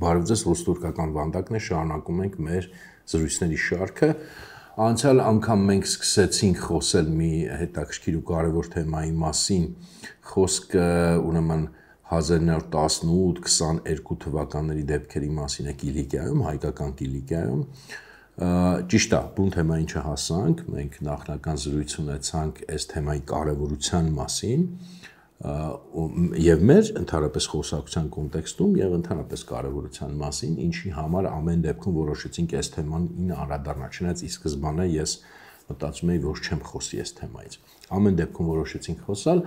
Բարև ձեզ, ռուս-թուրքական վանդակն է, շարունակում ենք մեր զրույցների շարքը։ Անցյալ անգամ մենք սկսեցինք խոսել մի հետաքրքիր ու կարևոր թեմայի մասին, խոսքը ուրեմն 1918-22 թվականների դեպքերի մասին է Կիլիկիայում, հայկական Կիլիկիայում։ Ճիշտ է, բուն թեմային չհասանք, մենք նախնական զրույց ունեցանք այս թեմայի կարևորության մասին եւ մեր ընդհանրապես խոսակցության կոնտեքստում եւ ընդհանրապես կարևորության մասին, ինչի համար ամեն դեպքում որոշեցինք այս թեման անդրադառնալ, չնայած ի սկզբանե ես մտածում էի, որ չեմ խոսի այս թեմայից։ Ամեն դեպքում որոշեցինք խոսալ,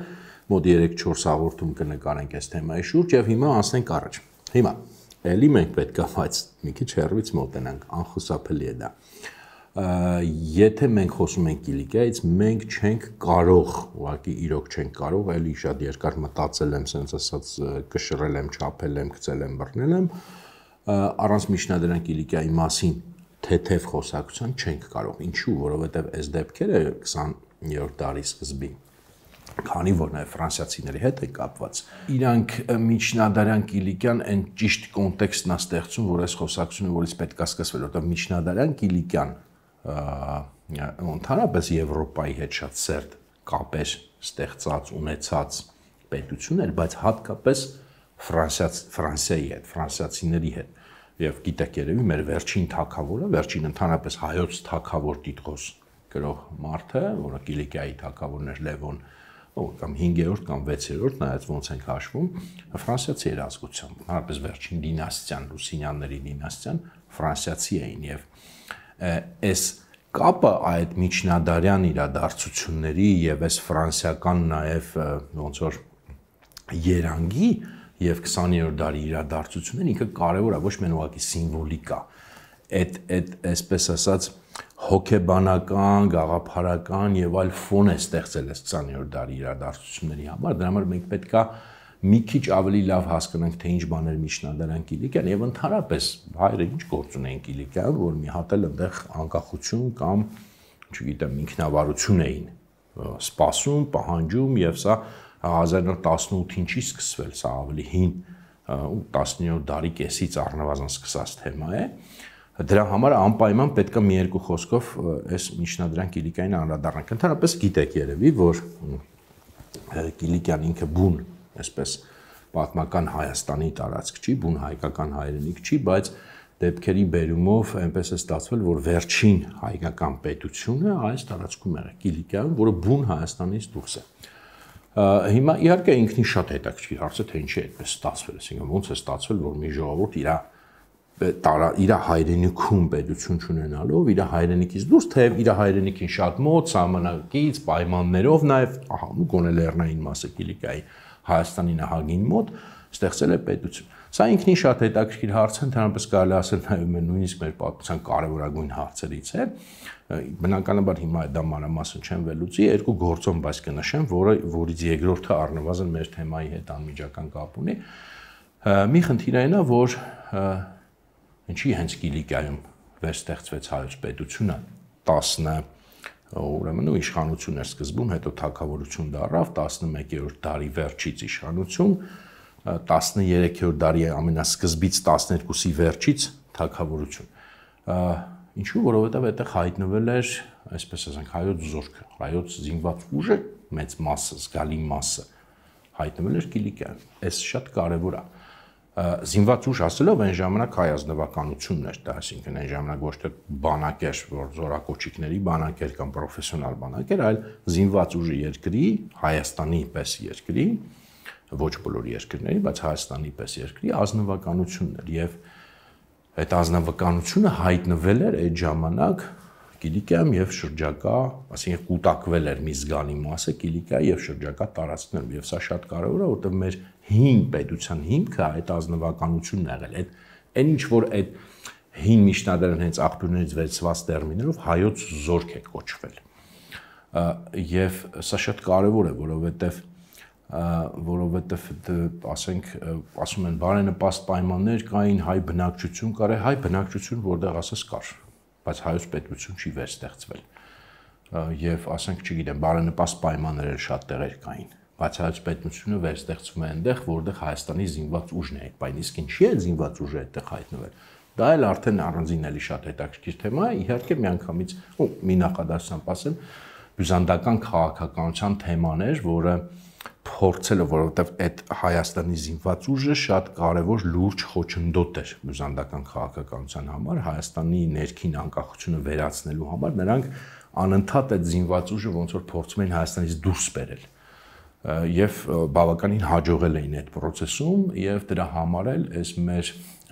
մոտ 3-4 հաղորդում կնկարենք այս թեմայի շուրջ եւ հիմա անցնենք առաջ։ Հիմա էլի մենք պետք է բայց մի քիչ հեռվից մոտենանք, անխուսափելի է դա։ Եթե մենք խոսում ենք Կիլիկիայից, մենք չենք կարող, ուղղակի իրոք չենք կարող, էլի շատ երկար մտածել եմ, sense ասած կշռել եմ, չափել եմ, գցել եմ, բռնել եմ, առանց միջնադարյան Կիլիկիայի մասին թեթև խոսակցության չենք կարող։ Ինչու՞, որովհետև այս դեպքերը 20-րդ դարի սկզբին, քանի որ նաև ֆրանսիացիների հետ է կապված, իրանք միջնադարյան Կիլիկիան այն ճիշտ կոնտեքստն է ստեղծում, որ այս խոսակցությունը որից պետք է սկսվել, որտեղ միջնադարյան Կիլիկիան ընդհանրապես Եվրոպայի հետ շատ սերտ կապեր ստեղծած, ունեցած պետություն էր, բայց հատկապես Ֆրանսիայի հետ, ֆրանսիացիների հետ։ Եվ գիտեք երևի մեր վերջին թագավորը, վերջին ընդհանրապես հայոց թագավոր Տիտղոս գրող մարդը, որը Կիլիկիայի թագավորն էր Լևոն, կամ 5-րդ կամ 6-րդ, նայած ոնց ենք հաշվում, ֆրանսիացի էր ազգությամբ, ընդհանրապես վերջին դինաստիան, Լուսինյանների դինաստիան ֆրանսիացի էին եւ այս կապը այդ միջնադարյան իրադարձությունների եւ այս ֆրանսիական նաեւ ոնց որ երանգի եւ 20-րդ դարի իրադարձությունները ինքը կարեւոր է, ոչ միայն ուղղակի սիմվոլիկ է, այդ այսպես ասած հոգեբանական, գաղափարական եւ այլ ֆոն է ստեղծել այս 20-րդ դարի իրադարձությունների համար, դրա համար մենք պետք է մի քիչ ավելի լավ հասկանանք, թե ինչ բաներ միջնադարյան Կիլիկիան եւ ընդհանրապես հայերը ինչ գործ ունեին Կիլիկիայում, որ մի հատ էլ այնտեղ անկախություն կամ, չգիտեմ, ինքնավարություն էին սպասում, պահանջում եւ սա 1918-ին չի սկսվել, սա ավելի հին 19-րդ դարի կեսից առնվազն սկսած թեմա է։ Դրա համար անպայման պետք է մի երկու խոսքով այս միջնադարյան Կիլիկիային անդրադառնանք։ Ընդհանրապես գիտեք երևի, որ Կիլիկիան ինքը բուն, այսպես պատմական Հայաստանի տարածք չի, բուն հայկական հայրենիք չի, բայց դեպքերի բերումով այնպես է ստացվել, որ վերջին հայկական պետությունը այս տարածքում է Կիլիկիայում, որը բուն Հայաստանից դուրս է։ Հիմա իհարկե ինքնին շատ հետաքրքիր հարց է, թե ինչի է այդպես ստացվել, այսինքն ոնց է ստացվել, որ մի ժողովուրդ իր հայրենիքում պետություն չունենալով, իր հայրենիքից դուրս, թեև իր հայրենիքին շատ մոտ, սահմանակից, պայմաններով նաև, գոնե լեռնային մասը Կիլիկիայի Հայաստանի նահանգին մոտ ստեղծել է պետություն։ Սա ինքնին շատ հետաքրքիր հարց է, ընդհանրապես կարելի ասել նաև նույնիսկ մեր պատմության կարևորագույն հարցերից է։ Բնականաբար հիմա դա մանրամասն չեմ վերլուծի, երկու գործոն բայց կնշեմ, որից երկրորդը առնվազն մեր թեմայի հետ անմիջական կապ ունի։ Մի խնդիր այն է, որ ինչի հենց Կիլիկիայում վերստեղծվեց հայոց պետությունը 10 իշխանություն էր սկզբում, հետո թագավորություն դառավ, 11-րդ դարի վերջից իշխանություն, 13-րդ դարի ամենասկզբից 12-ի վերջից թագավորություն։ Ինչու, որովհետև այդտեղ հայտնվել էր, այսպես ասենք, հայոց զորքը, հայոց զինված ուժը, մեծ մասը, զգալի մասը հայտնվել էր Կիլիկիայում։ Այս շատ կարևոր է։ Զինված ուժ ասելով այն ժամանակ հայ ազնվականությունն էր դա, այսինքն այն ժամանակ ոչ թե բանակ էր, որ զորակոչիկների բանակ էր կամ պրոֆեսիոնալ բանակ էր, այլ զինված ուժի երկրի, Հայաստանի պես երկրի, ոչ բոլոր երկրների, բայց Հայաստանի պես երկրի ազնվականությունն էր եւ այդ ազնվականությունը հայտնվել էր այդ ժամանակ Կիլիկիայում եւ շրջակա, այսինքն կուտակվել էր մի զգալի մասը Կիլիկիայի եւ շրջակա տարածքներում եւ սա շատ կարեւոր է, որովհետեւ մեր հին պետության հիմքը այդ ազնվականությունն է եղել։ Այն ինչ որ այդ հին միջնադարյան հենց աղբյուրներից վերցված տերմիներով հայոց զորք է կոչվել։ Եվ սա շատ կարեւոր է, որովհետեւ ասենք, ասում են բարենպաստ պայմաններ կային, հայ բնակչություն կար, հայ բնակչություն որտեղ ասես կար, բայց հայոց պետություն չի վերստեղծվել։ Եվ ասենք, չգիտեմ, բարենպաստ պայմաններ շատ տեղեր կային։ բայց հայոց պետությունը վերստեղծվում է այնտեղ, որտեղ Հայաստանի զինված ուժն է, բայց իսկ ինչի է զինված ուժը այդտեղ հայտնվել։ Դա էլ արդեն առանձին էլի շատ հետաքրքիր թեմա է, իհարկե միանգամից մի նախադասությամբ ասեմ, բյուզանդական քաղաքականության թեման էր, որը փորձելը, որովհետև այդ Հայաստանի զինված ուժը շատ կարևոր լուրջ խոչընդոտ էր բյուզանդական քաղաքականության համար, Հայաստանի ներքին անկախությունը վերացնելու համար, նրանք անընդհատ այդ զինված ուժը ոնց որ փորձում էին Հայաստանից դուրս բերել եւ բավականին հաջողել էին այդ process-ում եւ դրա համար էլ այս մեր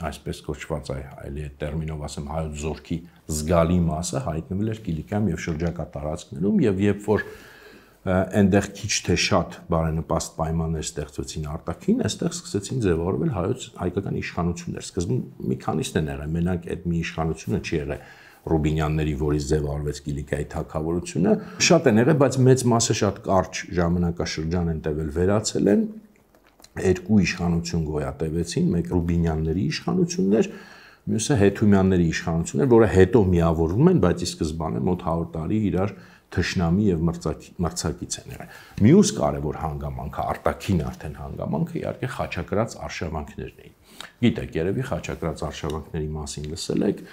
այսպես կոչված այլի այդ տերմինով ասեմ հայոց զորքի զգալի մասը հայտնվել էր Կիլիկայում եւ շրջակա տարածքներում եւ երբ որ այնտեղ քիչ թե շատ բարենպաստ պայմաններ ստեղծվեցին արտաքին, այստեղ սկսեցին ձևավորվել հայկական իշխանություններ։ Սկզբում մի քանիսն են եղել, մենակ այդ մի իշխանությունը չի եղել Ռուբինյանների, որից ձևավորվեց Կիլիկայի թագավորությունը, շատ են եղել, բայց մեծ մասը շատ կարճ ժամանակաշրջան են տևել, վերացել են, երկու իշխանություն գոյատևեցին, մեկ Ռուբինյանների իշխանությունն էր, մյուսը Հետումյանների իշխանությունն էր, որը հետո միավորվում են, բայց ի սկզբանե մոտ 100 տարի իրար թշնամի եւ մրցակից են եղել։ Մյուս կարևոր հանգամանքը, արտաքին արդեն հանգամանքը իհարկե խաչակրաց արշավանքներն էին։ Գիտեք, երևի խաչակրաց արշավանքների մասին լսել եք,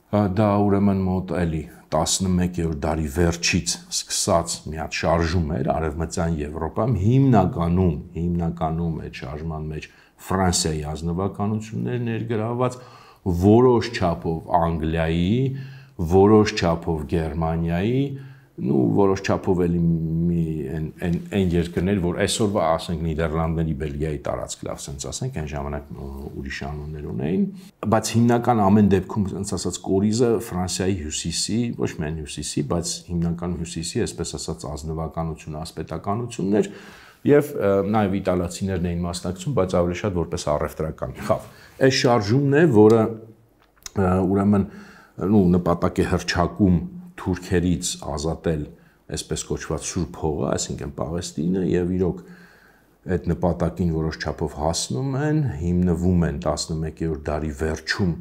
դա ուրեմն մոտ էլի 11-րդ դարի վերջից սկսած մի հատ շարժում էր Արևմտյան Եվրոպայում, հիմնականում այդ շարժման մեջ Ֆրանսիայի ազնվականություններ ներգրավված, որոշ չափով Անգլիայի, որոշ չափով Գերմանիայի, որոշ չափով էլի այն երկրներ, որ այսօրվա ասենք Նիդերլանդների, Բելգիայի տարածք լավ sense ասենք, այն ժամանակ ուրիշ անուններ ունեին, բայց հիմնական ամեն դեպքում sense ասած կորիզը Ֆրանսիայի հյուսիսի, ոչ միայն հյուսիսի, բայց հիմնական հյուսիսի, այսպես ասած ազնվականությունը, ասպետականությունն էր եւ նաեւ իտալացիներն էին մասնակցում, բայց ավելի շատ որպես առևտրական խավ։ Այս շարժումն է, որը ուրեմն նպատակ է հռչակում թուրքերից ազատել այսպես կոչված Սուրբ հողը, այսինքն Պաղեստինը եւ իրոք այդ նպատակին որոշ չափով հասնում են, հիմնվում են 11-րդ դարի վերջում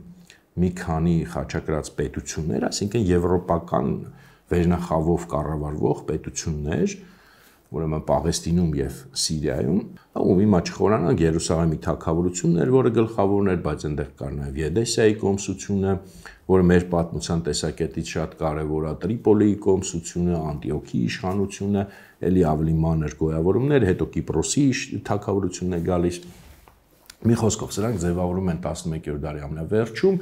մի քանի խաչակրաց պետություններ, այսինքն եվրոպական վերնախավով կառավարվող պետություններ, ուրեմն Պաղեստինում եւ Սիրիայում, ու հիմա չխորանանք Երուսաղեմի թագավորություններ, որը գլխավորն էր, բայց այնտեղ կար նաեւ Եդեսայի կոմսությունը, որը մեր պատմության տեսակետից շատ կարևոր է, Տրիպոլիի կոմսությունը, Անտիոքիի իշխանությունը, ելի ավելի մանր գոյավորումներ, հետո Կիպրոսի թագավորությունն է գալիս։ Մի խոսքով սրանք ձևավորում են 11-րդ դարի ամենավերջում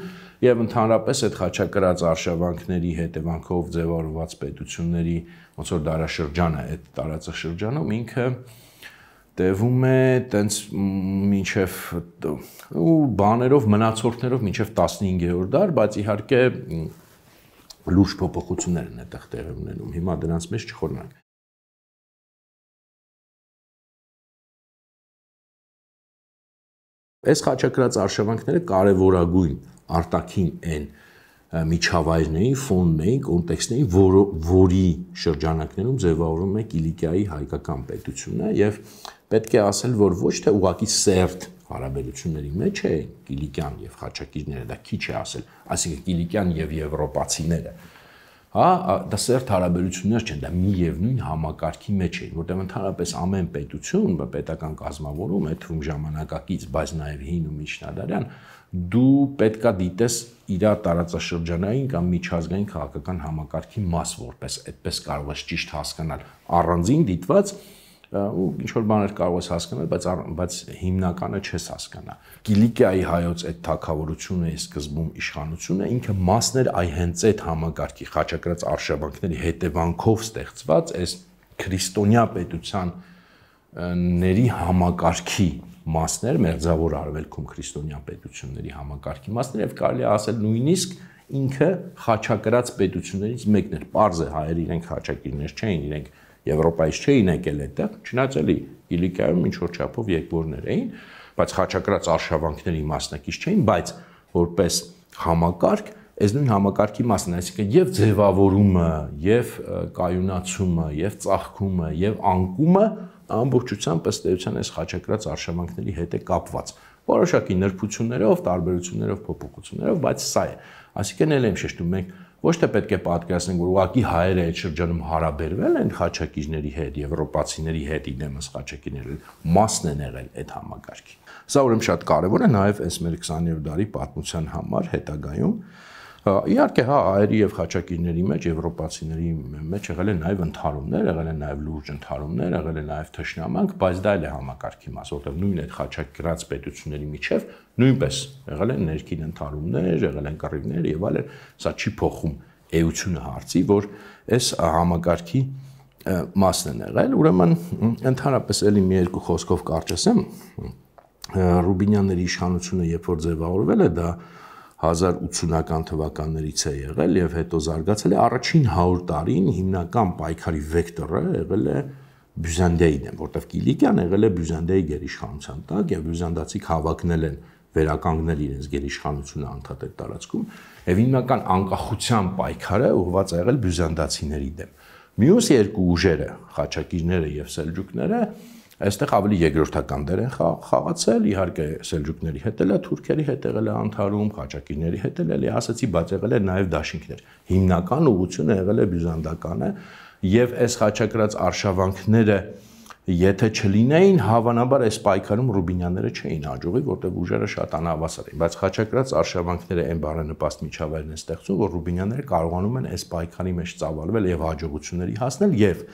եւ ընդհանրապես այդ խաչակրաց արշավանքների հետևանքով ձևավորված պետությունների ոնց որ դարաշրջանը, այդ տարածաշրջանում ինքը տևում է տենց մինչև բաներով մնացորդներով մինչև 15-րդ դար, բայց իհարկե լուրջ փոփոխություններ են այդտեղ տեղի ունենում։ Հիմա դրանց մեջ չխորանանք։ Այս խաչակրաց արշավանքները կարևորագույն արտաքին են միջավայրն էին, ֆոնն էին, կոնտեքստն էին, որի շրջանակներում ձևավորվում է Կիլիկիայի հայկական պետությունը եւ պետք է ասել, որ ոչ թե ուղղակի սերտ հարաբերությունների մեջ է Կիլիկյան եւ խաչակիրները, դա քիչ է ասել, այսինքն Կիլիկյան եւ եվրոպացիները, հա, դա սերտ հարաբերություններ չեն, դա մի եւ նույն համակարգի մեջ էին, որտեղ ընդհանրապես ամեն պետություն, պետական կազմավորում, այդ թվում ժամանակակից, բայց նաեւ հին ու միջնադարյան, դու պետքա դիտես իր տարածաշրջանային կամ միջազգային քաղաքական համակարգի մաս որպես այդպես կարող ես ճիշտ հասկանալ առանձին դիտված ու ինչ որ բաներ կարող ես հասկանալ, բայց հիմնականը չես հասկանա։ Կիլիկիայի հայոց այդ թագավորությունը սկզբում իշխանությունը ինքը մասն էր այ հենց այդ համակարգի խաչակրաց արշավանքների հետևանքով ստեղծված այս քրիստոնյա պետությանների համակարգի մասներ, մերձավոր արևելքում քրիստոնյա պետությունների համակարգի մասներ եւ կարելի է ասել նույնիսկ ինքը խաչակրաց պետություններից մեկն էր։ Պարզ է հայերը իրենք խաչակիրներ չէին, իրենք Եվրոպայից չէին եկել այդտեղ, չնայած էլի Կիլիկայում ինչ որ չափով եկբորներ էին, բայց խաչակրաց արշավանքների մասնակից չէին, բայց որպես համակարգ այս նույն համակարգի մասն է, այսինքն եւ ձևավորումը, եւ կայունացումը, եւ ծաղկումը, եւ անկումը ամբողջությամբ ըստ էության այս խաչակրաց արշավանքների հետ է կապված։ Որոշակի նրբություններով, տարբերություններով, փոփոխություններով, բայց սա է։ Այսինքն էլ եմ շեշտում, մենք ոչ թե պետք է պատկերացնենք, որ ուղղակի հայերը այդ շրջանում հարաբերվել են խաչակիրների հետ, եվրոպացիների հետ, իդեմս խաչակիրները մասն են եղել այդ համակարգի։ Սա ուրեմն շատ կարևոր է նաև այս մեր 20-րդ դարի պատմության համար հետագայում։ Իհարկե, հա, հայերի եւ խաչակիրների մեջ, եվրոպացիների մեջ եղել են նաև ընդհարումներ, եղել են նաև լուրջ ընդհարումներ, եղել են նաև թշնամանք, բայց դա էլ է համակարգի մաս, որտեղ նույն այդ խաչակիրած պետությունների միջև նույնպես եղել են ներքին ընդհարումներ, եղել են կռիվներ եւ այլն, սա չի փոխում էությունը հարցի, որ այս համակարգի մասն են եղել, ուրեմն ընդհանրապես էլի մի երկու խոսքով կարճ ասեմ, Ռուբինյանների իշխանությունը երբ որ ձևավորվել է, դա 1080-ական թվականներից է եղել եւ հետո զարգացել է առաջին 100 տարին հիմնական պայքարի վեկտորը եղել է Բյուզանդիայի դեմ, որտեղ Կիլիկիան եղել է Բյուզանդիայի գերիշխանության տակ եւ բյուզանդացիք հավակնել են վերականգնել իրենց գերիշխանությունը անդադար տարածքում եւ հիմնական անկախության պայքարը ուղղված է եղել բյուզանդացիների դեմ։ Մյուս երկու ուժերը, խաչակիրները եւ սելջուկները, այստեղ ավելի երկրորդական դեր են խաղացել, իհարկե սելջուկների հետ էլ է, թուրքերի հետ եղել է ընդհարում, խաչակիրների հետ էլ է, ասացի, բայց եղել է նաև դաշինքներ։ Հիմնական ուղղությունը եղել է բյուզանդականը եւ այս խաչակրած արշավանքները եթե չլինեին, հավանաբար այս պայքարում Ռուբինյանները չէին հաջողի, որտեղ ուժերը շատ անհավասար էին, բայց խաչակրած արշավանքները այն բարենպաստ միջավայրն են ստեղծում, որ Ռուբինյանները կարողանում են այս պայքարի մեջ ծավալվել եւ հաջողությունների հասնել եւ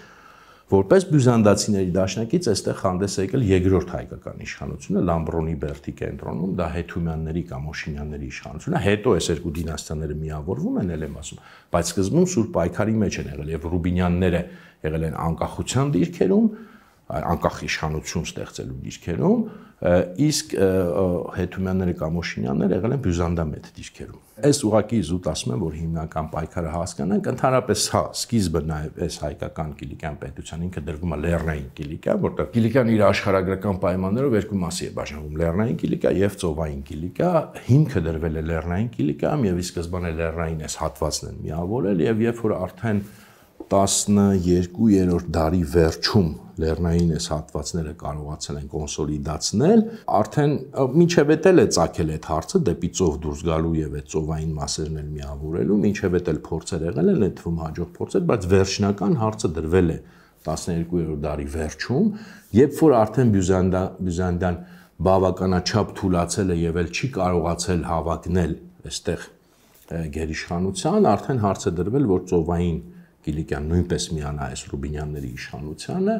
որպես բյուզանդացիների դաշնակից այստեղ հանդես է եկել երկրորդ հայկական իշխանությունը Լամբրոնի Բերդի կենտրոնում, դա Հեթումյանների կամ Օշինյանների իշխանությունը, հետո այս երկու դինաստիաները միավորվում են, ել եմ ասում, բայց սկզբում սուր պայքարի մեջ են եղել եւ Ռուբինյանները եղել են անկախության դիրքերում, անկախ իշխանություն ստեղծելու դիրքերում, իսկ Հեթումյանները կամ Օշինյանները եղել են բյուզանդամետ դիրքերում։ Այս ուղղակի զուտ ասում եմ, որ հիմնական պայքարը հասկանանք, ընդհանրապես հա, սկիզբը նաև այս հայկական Կիլիկյան պետության ինքը դրվում է Լեռնային Կիլիկիա, որտեղ Կիլիկյան իր աշխարհագրական պայմաններով երկու մասի է բաժանվում՝ Լեռնային Կիլիկիա եւ Ծովային Կիլիկիա։ Հիմքը դրվել է Լեռնային Կիլիկիայում եւ ի սկզբանե Լեռնային այս հատվածն են միավորել եւ երբ որ արդեն 12-րդ դարի վերջում Լեռնային այս հատվածները կարողացել են կոնսոլիդացնել, արդեն մինչև էլ է ծագել այդ հարցը դեպի ծով դուրս գալու եւ այդ ծովային մասերն էլ միավորելու, մինչև էլ փորձեր եղել են, այդ թվում հաջող փորձեր, բայց վերջնական հարցը դրվել է 12-րդ դարի վերջում, երբ որ արդեն Բյուզանդիան բավականաչափ թուլացել է եւ էլ չի կարողացել հավակնել այստեղ գերիշխանության, արդեն հարցը դրվել, որ ծովային Կիլիկյան նույնպես միանա այս Ռուբինյանների իշխանությանը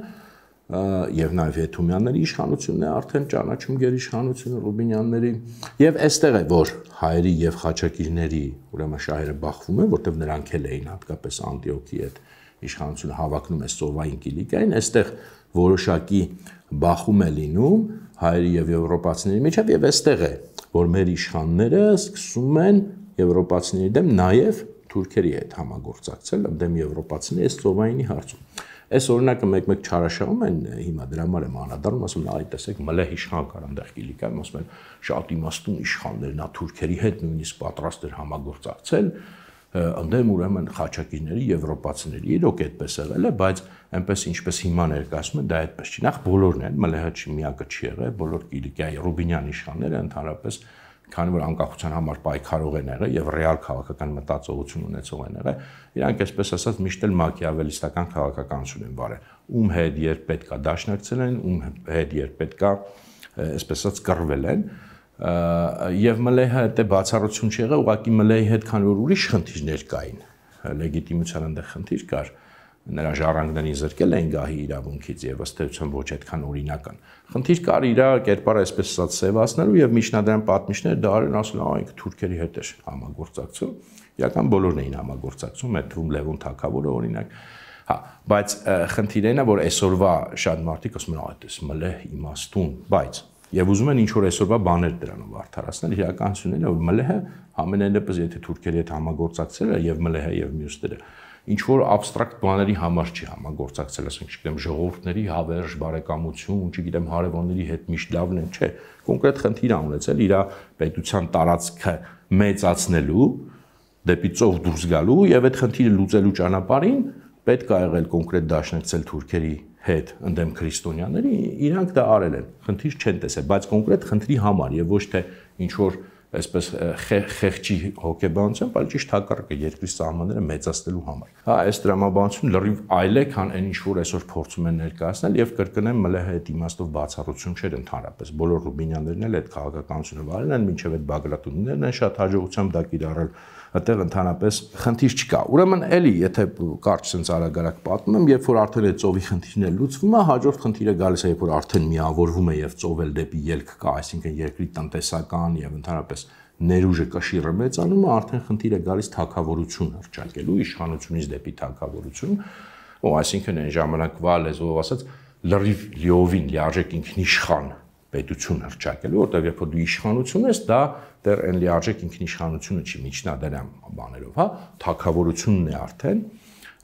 եւ նաեւ Հեթումյանների իշխանությունն է արդեն ճանաչում գերիշխանությունը Ռուբինյանների եւ այստեղ է որ հայերի եւ խաչակիրների ուրեմն շահերը բախվում են, որտեղ նրանք էլ էին հատկապես Անտիոքի այդ իշխանությունը հավակնում է Ծովային Կիլիկային, այստեղ որոշակի բախում է լինում հայերի եւ եվրոպացիների միջև եւ այստեղ է որ մեր իշխանները սկսում են եվրոպացիների դեմ նաեւ թուրքերի հետ համագործակցել դեմ եվրոպացիների այս ծովայինի հարցում։ Այս օրինակը մեկ-մեկ չարաշահում են հիմա դրա համար եմ անդրադառնում, ասում են, այ տեսեք, մլեհ իշխան կար այնտեղ Կիլիկայում, ասում են, շատ իմաստուն իշխաններ, նա թուրքերի հետ նույնիսկ պատրաստ էր համագործակցել, ընդդեմ ուրեմն խաչակիրների, եվրոպացիների, իրոք այդպես եղել է, բայց այնպես ինչպես հիմա ներկայացնում են, դա այդպես չի։ Նախ բոլորն են, մլեհը միակը չի եղել, բոլոր Կիլիկիայի Ռուբինյան իշխանները ընդհանրապես քանի որ անկախության համար պայքարող են եղել եւ ռեալ քաղաքական մտածողություն ունեցող են եղել, իրանք այսպես ասած միշտ էլ մաքիավելիստական քաղաքականություն են վարել։ Ում հետ երբ պետքա դաշնակցել են, ում հետ երբ պետքա այսպես ասած կռվել են, եւ մլեհը դե բացառություն չի եղել, ուղղակի մլեհի հետ քանի որ ուրիշ խնդիրներ կային, լեգիտիմության այնտեղ խնդիր կար, նրա ժառանգներին զրկել էին գահի իրավունքից եւ ըստ էության ոչ այդքան օրինական։ Խնդիր կար իր կերպարը այսպես ասած սևացնելու եւ միջնադարյան պատմիչները դա արեն ասել այնք թուրքերի հետ էր համագործակցում։ Իրական բոլորն էին համագործակցում, այդ թվում Լևոն Թագավորը օրինակ։ Հա, բայց խնդիրն է, որ այսօրվա շատ մարդիկ ասում են այդպես մլեհ իմաստուն, բայց եւ ուզում են ինչ որ այսօրվա բաներ դրանով արդարացնել, իրականությունն է, որ մլեհը ամենայնպես եթե թուրքերի հետ համագործակցել է եւ մլեհը եւ մյուսները ինչ որ абստրակտ բաների համար չի համագործակցել, ասենք, չգիտեմ, ժողովուրդների հավերժ բարեկամություն, չգիտեմ, հարևանների հետ միշտ լավն են, չէ, կոնկրետ խնդիր ունեցել իր պետության տարածքը մեծացնելու, դեպի ծով դուրս գալու եւ այդ խնդիրը լուծելու ճանապարհին պետք է եղել կոնկրետ դաշնակցել թուրքերի հետ ընդդեմ քրիստոնյաների, իրանք դա արել են, խնդիր չեն տեսել, բայց կոնկրետ խնդրի համար եւ ոչ թե ինչ որ այսպես խեղճի հոգեբանությամբ, այլ ճիշտ հակառակը երկրի սահմանները մեծացնելու համար։ Հա, այս տրամաբանությունը լրիվ այլ է, քան այն ինչ որ այսօր փորձում են ներկայացնել եւ կրկնեմ ՄԼՀ-ի այդ իմաստով բացառություն չէր ընդհանրապես։ Բոլոր Ռուբինյաններն էլ այդ քաղաքականությունը վարել են, մինչեւ այդ Բագրատունիներն են շատ հաջողությամբ դա կիրառել։ Այդտեղ ընդհանրապես խնդիր չկա։ Ուրեմն էլի, եթե կարճ sense արագ-արագ պատմում եմ, երբ որ արդեն այդ ծովի խնդիրն է լուծվում, հաջորդ խնդիրը գալիս է, երբ որ արդեն միավորվում է եւ ծովել դեպի ելք կա, այսինքն երկրի տնտեսական եւ ընդհանրապես ներուժը կշիռը մեծանում է, արդեն խնդիր է գալիս թագավորություն հռչակելու, իշխանությունից դեպի թագավորություն, ու այսինքն այն ժամանակվա լեզվով ասած լրիվ լիովին լիարժեք ինքնիշխան պետություն հռչակելու, որտեղ երբ որ դու իշխանություն ես, դա դեռ այն լիարժեք ինքնիշխանությունը չի, միջնադարյան բաներով, հա, թագավորությունն է արդեն,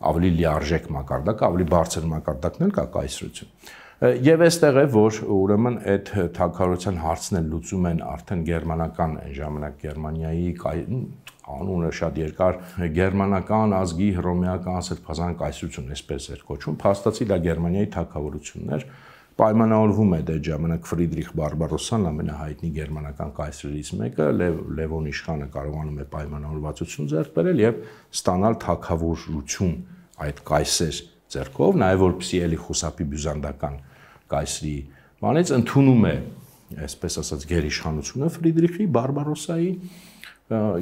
ավելի լիարժեք մակարդակ, ավելի բարձր մակարդակն էլ կա կայսրություն։ Եվ այստեղ է, որ ուրեմն այդ թագավորության հարցն էլ լուծում են արդեն գերմանական այն ժամանակ Գերմանիայի անունը շատ երկար գերմանական ազգի հռոմեական սրբազան կայսրություն, այսպես էր կոչվում, փաստացի դա Գերմանիայի թագավորությունն էր, պայմանավորվում է այդ ժամանակ Ֆրիդրիխ Բարբարոսան, ամենահայտնի գերմանական կայսրերից մեկը, Լևոն իշխանը կարողանում է պայմանավորվածություն ձեռք բերել եւ ստանալ թագավորություն այդ կայսեր ձեռքով, նաեւ որպեսզի էլի խուսափի բյուզանդական կայսրի բանից ընդունում է, այսպես ասած, գերիշխանությունը Ֆրիդրիխի Բարբարոսայի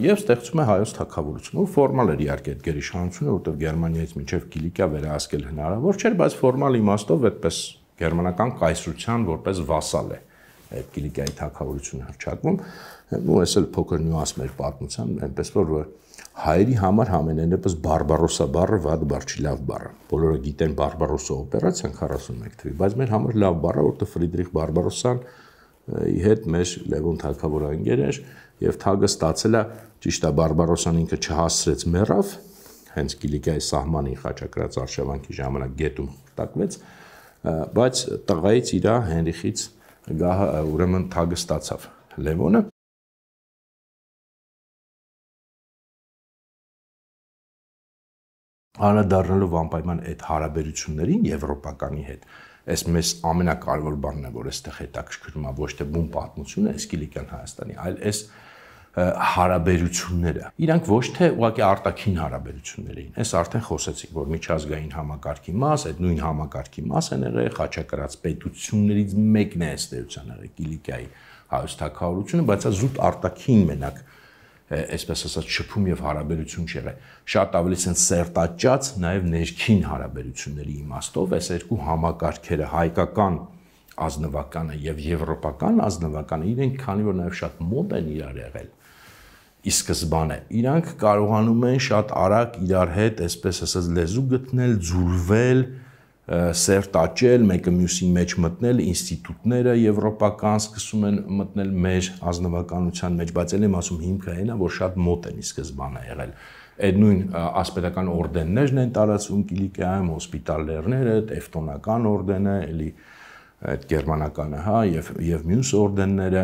եւ ստեղծում է հայոց թագավորություն։ Ու ֆորմալ էր իհարկե այդ գերիշխանությունը, որտեղ Գերմանիայից մինչև Կիլիկիա վերահսկել հնարավոր չէր, բայց ֆորմալ իմաստով այդպես գերմանական կայսրության որպես վասալ է այդ Կիլիկիայի թագավորությունը հռչակվում։ Ու այս էլ փոքր նյուանս մեր պատմության, այնպես որ հայերի համար համենայնպես Բարբարոսա բառը վատ բառ չի, լավ բառ է։ Բոլորը գիտեն Բարբարոսա օպերացիան 41 թվականին, բայց մեր համար լավ բառ է, որտեղ Ֆրիդրիխ Բարբարոսան հետ մեր Լևոն թագավորանգեր էր եւ թագը ստացել է, ճիշտ է, Բարբարոսան ինքը չհասցրեց մեռավ, հենց Կիլիկիայի սահմանին խաչակրած արշավանքի ժամանակ գետում խրտակվեց, բայց տղայից իր Հենրիխից ուրեմն թագը ստացավ Լևոնը։ Անդրադառնալով անպայման այդ հարաբերություններին եվրոպականի հետ, այս մեզ ամենակարևոր բանն է, որ այստեղ հետաքրքրում է ոչ թե բուն պատմությունը, այս Կիլիկյան Հայաստանի, այլ այս հարաբերությունները։ Իրանք ոչ թե ուղղակի արտաքին հարաբերություններ էին։ Այս արդեն խոսեցինք, որ միջազգային համակարգի մաս, այդ նույն համակարգի մաս են եղել խաչակրած պետություններից մեկն է ըստ էության եղել Կիլիկիայի հայոց թագավորությունը, բայց զուտ արտաքին մենակ այսպես ասած շփում եւ հարաբերություն չեղել։ Շատ ավելի sense սերտաճած նաեւ ներքին հարաբերությունների իմաստով այս երկու համակարգերը հայկական ազնվականը եւ եվրոպական ազնվականը իրենք քանի որ նաեւ շատ մոտ են իրար եղել ի սկզբանե իրանք կարողանում են շատ արագ իրար հետ այսպես ասած լեզու գտնել, ձուլվել, սերտաճել, մեկը մյուսի մեջ մտնել, ինստիտուտները եվրոպական սկսում են մտնել մեր ազնվականության մեջ, բայց ել եմ ասում հիմքը այն է, որ շատ մոտ են ի սկզբանե եղել։ Այդ նույն ասպետական օրդեններն են տարածվում Կիլիկիայում, հոսպիտալներները, տևտոնական օրդենը, էլի այդ գերմանականը, հա, եւ մյուս օրդենները,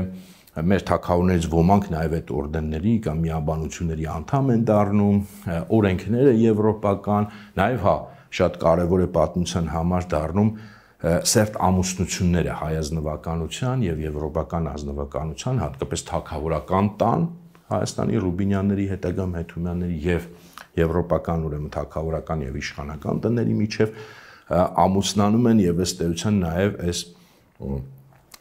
մեր թագավորներից ոմանք նաև այդ օրդենների կամ միաբանությունների անդամ են դառնում, օրենքները եվրոպական, նաև հա շատ կարևոր է պատմության համար դառնում սերտ ամուսնությունները հայ ազնվականության եւ եվրոպական ազնվականության, հատկապես թագավորական տան Հայաստանի Ռուբինյանների հետագա Մեթումյանների եւ եվրոպական ուրեմն թագավորական եւ իշխանական տների միջև ամուսնանում են եւ ըստ էության նաեւ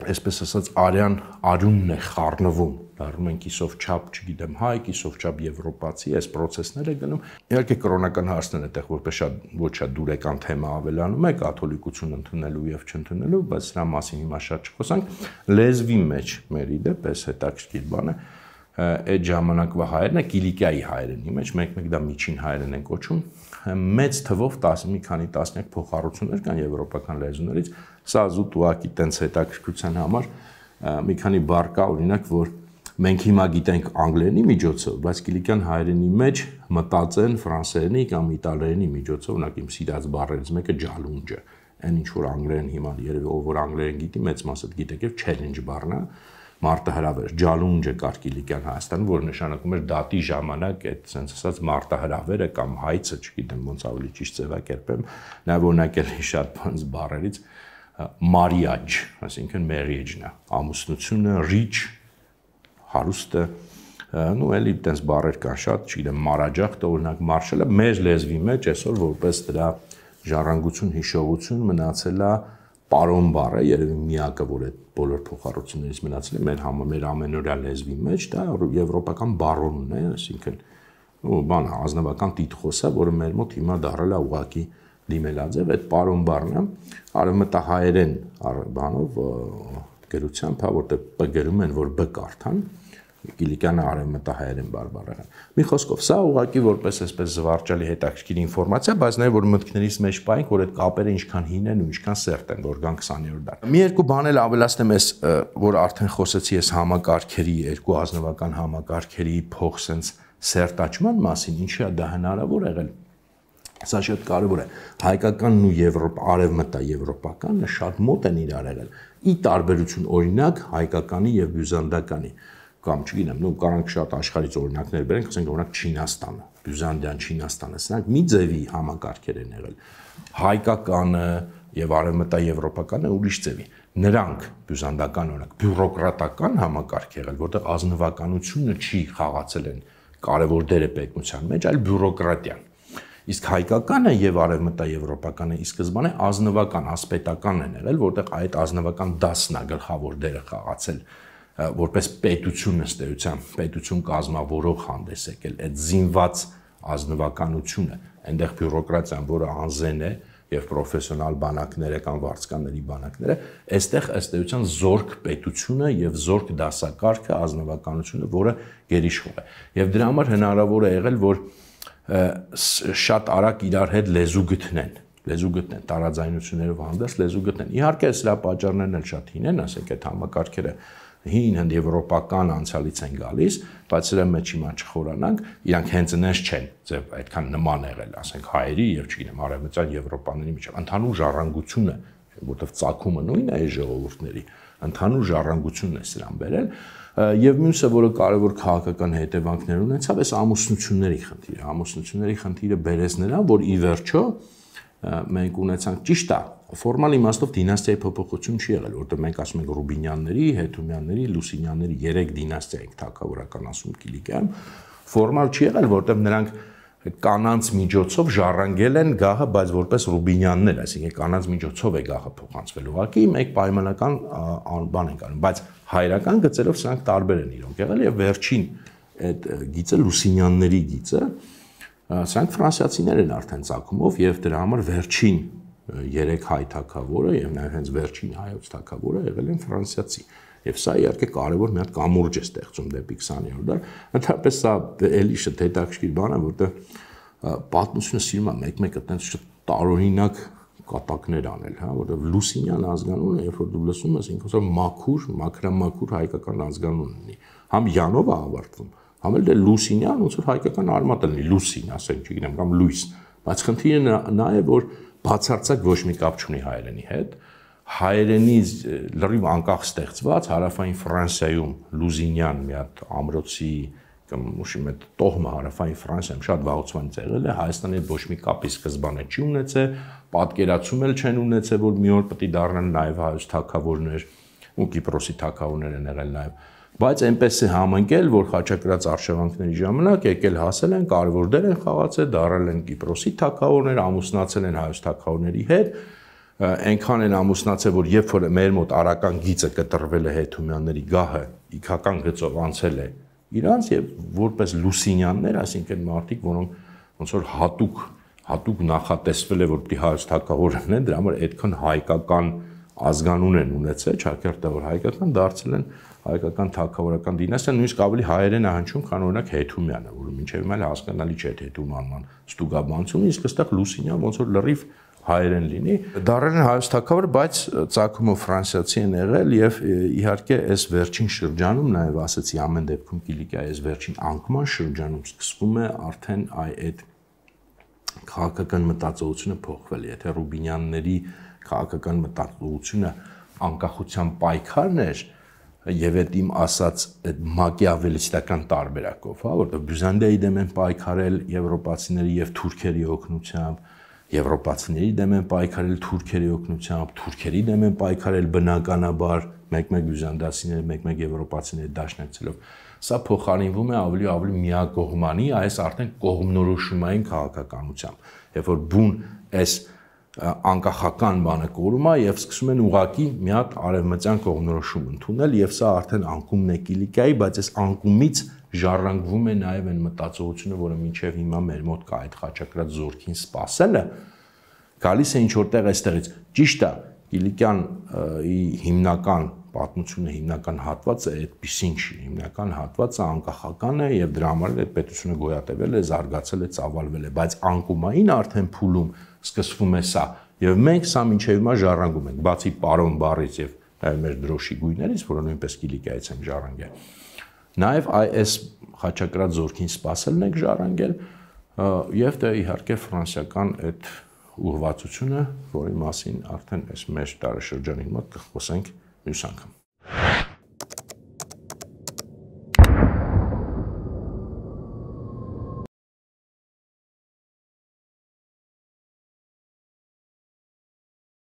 այսպես ասած արյան արյունն է խառնվում, դառնում են կիսով չափ, չգիտեմ, հայ, կիսով չափ եվրոպացի, այս process-ները գնում։ Իհարկե կրոնական հարցն է այդտեղ որպես շատ ոչ շատ դուրեկան թեմա ավելանում է, կաթոլիկություն ընդունելու եւ չընդունելու, բայց սրա մասին հիմա շատ չխոսանք։ Լեզվի մեջ մեր իդեպ էս հետաքրքիր բան է, այդ ժամանակվա հայերն է Կիլիկիայի հայերենի մեջ, մեկ-մեկ դա միջին հայերեն են կոչում, մեծ թվով մի քանի տասնյակ փոխառություններ կան եվրոպական լեզուներից, սա զուտ ուղղակի տենց հետաքրքրության համար մի քանի բառ կա, օրինակ, որ մենք հիմա գիտենք անգլերենի միջոցով, բայց Կիլիկյան հայերենի մեջ մտածեն ֆրանսերենի կամ իտալերենի միջոցով, օրինակ իմ սիրած բառերից մեկը ջալունջը, այն ինչ որ անգլերեն հիմա երևի ով որ անգլերեն գիտի, մեծ մասը գիտեք եւ challenge բառն է, մարտահրավեր, ջալունջը կար Կիլիկյան Հայաստանում, որ նշանակում էր դատի ժամանակ այդ sense ասած մարտահրավերը կամ հայցը, չգիտեմ ոնց ավելի ճիշտ ձևակերպեմ, նաեւ օրինակ էլ շատ բանց բառերից marriage, այսինքն marriage-ն է, ամուսնությունը, rich, հարուստը, նու էլի այդպես բառեր կան շատ, չգիտեմ, մարաջախտ օրինակ մարշալը մեր լեզվի մեջ այսօր որպես դրա ժառանգություն հիշողություն մնացել է պարոն բառը, երևի միակը, որ այդ բոլոր փոխառություններից մնացել է մեր ամենօրյա լեզվի մեջ, դա եվրոպական բարոնն է, այսինքն բան ազնվական տիտղոսը, որը մեր մոտ հիմա դարել է ուղղակի դիմելաձև, այդ պարոն բառն է, արևմտահայերեն բանով գրությամբ, որտեղ բ գրում են, որ բ կարդան, Կիլիկյանը արևմտահայերեն բարբառեղեն։ Մի խոսքով, սա ուղղակի որպես այսպես զվարճալի հետաքրքիր ինֆորմացիա, բայց նաև որ մտքներից մեջ պայենք, որ այդ կապերը ինչքան հին են ու ինչքան սերտ են, որ կան 20-րդ դար։ Մի երկու բան էլ ավելացնեմ ես, որ արդեն խոսեցի ես համակարգերի, երկու ազնվական համակարգերի փող sense սերտաճման մասին, ինչի է դա հնարավոր եղել։ Սա շատ կարևոր է։ Հայկականն ու արևմտաեվրոպականը շատ մոտ են իրար եղել։ Ի տարբերություն օրինակ հայկականի եւ բյուզանդականի կամ չգիտեմ, կարանք շատ աշխարհից օրինակներ բերենք, ասենք օրինակ Չինաստանը, Բյուզանդիան, Չինաստանը, սրանք մի ձևի համակարգեր են եղել։ Հայկականը եւ արևմտաեվրոպականը ուրիշ ձևի։ Նրանք բյուզանդական օրինակ բյուրոկրատական համակարգ եղել, որտեղ ազնվականությունը չի խաղացել են կարևոր դեր է պետության մեջ, այլ բյուրոկրատիան։ Իսկ հայկականը եւ արևմտաեվրոպականը ի սկզբանե ազնվական, ասպետական են եղել, որտեղ այդ ազնվական դասն է գլխավոր դերը խաղացել որպես պետություն ըստեյության, պետություն կազմավորող հանդես եկել, այդ զինված ազնվականությունը, այնտեղ բյուրոկրատիան, որը անզեն է եւ պրոֆեսիոնալ բանակները կամ վարձկանների բանակները, այստեղ ըստեյության զորք պետությունը եւ զորք դասակարգը, ազնվականությունը, որը գերիշխող է։ Եվ դրա համար հնարավոր է եղել, որ շատ արագ իրար հետ լեզու գտնեն, տարաձայնություններով հանդերձ լեզու գտնեն։ Իհարկե, սրա պատճառներն էլ շատ հին են, ասենք այդ համակարգերը հին եվրոպական անցյալից են գալիս, բայց սրա մեջ հիմա չխորանանք, իրանք հենց այնպես չեն, ձև այդքան նման եղել, ասենք հայերի եւ չգիտեմ, արևմտյան եվրոպաների միջեւ ընդհանուր ժառանգությունը, որտեղ ծագումը նույնն է այս ժողովուրդների, ընդհանուր ժառանգությունն է սրան բերել, եւ մյուսը, որը կարևոր քաղաքական հետևանքներ ունեցավ, այս ամուսնությունների խնդիրը։ Ամուսնությունների խնդիրը բերեց նրան, որ ի վերջո մենք ունեցանք ճիշտ է, ֆորմալ իմաստով դինաստիայի փոփոխություն չի եղել, որտեղ մենք ասում ենք Ռուբինյանների, Հետումյանների, Լուսինյանների 3 դինաստիա ենք թագավորական ասում Կիլիկիայում, ֆորմալ չի եղել, որտեղ նրանք կանանց միջոցով ժառանգել են գահը, բայց որպես Ռուբինյաններ, այսինքն կանանց միջոցով է գահը փոխանցվել։ Ուղղակի մեկ պայմանական բան ենք անում, բայց հայրական գծերով սրանք տարբեր են իրոք եղել եւ վերջին այդ գիծը Լուսինյանների գիծը, սրանք ֆրանսիացիներ են արդեն ցակումով եւ դրա համար վերջին 3 հայ թագավորը եւ նաեւ հենց վերջին հայոց թագավորը եղել են ֆրանսիացի։ Եվ սա իհարկե կարևոր մի հատ կամուրջ է ստեղծում դեպի 20-րդ դար։ Ընդհանրապես սա էլի շատ հետաքրքիր բան է, որտեղ պատմությունը սիրում է մեկ-մեկ այդպես շատ տարօրինակ կատակներ անել, հա, որտեղ Լուսինյան ազգանունը, երբ որ դու լսում ես, ինքն ասում մաքուր, մաքրամաքուր հայկական ազգանուն ունի։ Համ Յանով է ավարտվում, համ էլ դե Լուսինյան, ոնց որ հայկական արմատ լինի, Լուսին, ասենք, չգիտեմ, կամ Լուիս։ Բայց խնդիրը նա է, որ բացարձակ ոչ մի կապ չունի հայերենի հետ։ Հայերենի լրիվ անկախ ստեղծված հարավային Ֆրանսիայում Լուզինյան մի հատ ամրոցի կամ ուշի մեծ տոհմը հարավային Ֆրանսիայում շատ վաղուց եղել է, Հայաստանի հետ ոչ մի կապի սկզբանե չի ունեցել, պատկերացում էլ չեն ունեցել, որ մի օր պետք է դառնան նաև հայոց թագավորներ ու Կիպրոսի թագավորներ են եղել նաև, բայց այնպես է համընկել, որ խաչակրաց արշավանքների ժամանակ եկել հասել են, կարևոր դեր են խաղացել, դառել են Կիպրոսի թագավորներ, ամուսնացել են հայոց թագավորների հետ, այնքան են ամուսնացել, որ երբ որ մեր մոտ արական գիծը կտրվել է Հետումյանների գահը, իքական գծով անցել է իրանց եւ որպես Լուսինյաններ, այսինքն մարդիկ, որոնք ոնց որ հատուկ նախատեսվել է, որ պիտի հայոց թագավորն են, դրա համար այդքան հայկական ազգանուն են ունեցել, ճակերտավոր հայկական դարձել են հայկական թագավորական դինաստիա, նույնիսկ ավելի հայերեն է հնչում, քան օրինակ Հետումյանը, որը մինչև հիմա հասկանալի չէ Հետումանման ստուգաբանությունը, իսկ այստեղ Լուսինյան ոնց որ լրիվ հայերեն լինի, դառել են հայոց թագավոր, բայց ցակումով ֆրանսիացի են եղել եւ իհարկե այս վերջին շրջանում նաեւ ասեցի ամեն դեպքում Կիլիկիայի այս վերջին անկման շրջանում սկսվում է արդեն այդ քաղաքական մտածողությունը փոխվել, եթե Ռուբինյանների քաղաքական մտածողությունը անկախության պայքարն էր եւ այդ իմ ասած այդ մակիավելիստական տարբերակով, հա, որտեղ Բյուզանդիայի դեմ են պայքարել եվրոպացիների եւ թուրքերի օգնությամբ, եվրոպացիների դեմ են պայքարել թուրքերի օգնությամբ, թուրքերի դեմ են պայքարել բնականաբար մեկ-մեկ բյուզանդացիները, մեկ-մեկ եվրոպացիները դաշնակցելով։ Սա փոխարինվում է ավելի ու ավելի միակողմանի, այս արդեն կողմնորոշումային քաղաքականությամբ, երբ որ բուն այս անկախական բանը կորում է եւ սկսում են ուղակի մի հատ արևմտյան կողմնորոշում ընդունել եւ սա արդեն անկումն է Կիլիկիայի, բայց այս անկումից ժառանգվում է նաեւ այն մտածողությունը, որը մինչեւ հիմա մեր մոտ կա, այդ խաչակրաց զորքին սпасելը գալիս է ինչ որտեղ այստեղից։ Ճիշտ է, Կիլիկյանի հիմնական պատմությունը, հիմնական հատվածը այդպեսին չի, հիմնական հատվածը անկախական է եւ դրա համար էլ այդ պետությունը գոյատևել է, զարգացել է, ծավալվել է, բայց անկումային արդեն փուլում սկսվում է սա եւ մենք սա մինչեւ հիմա ժառանգում ենք, բացի պարոն բառից եւ մեր դրոշի գույներից, որը նույնպես Կիլիկիայից են ժառանգել։ Նաեւ այս խաչակրաց զորքին սпасելն ենք ժառանգել եւ դե իհարկե ֆրանսիական այդ ուղղվածությունը, որի մասին արդեն այս մեր տարեշրջանի մոտ կխոսենք մյուս անգամ։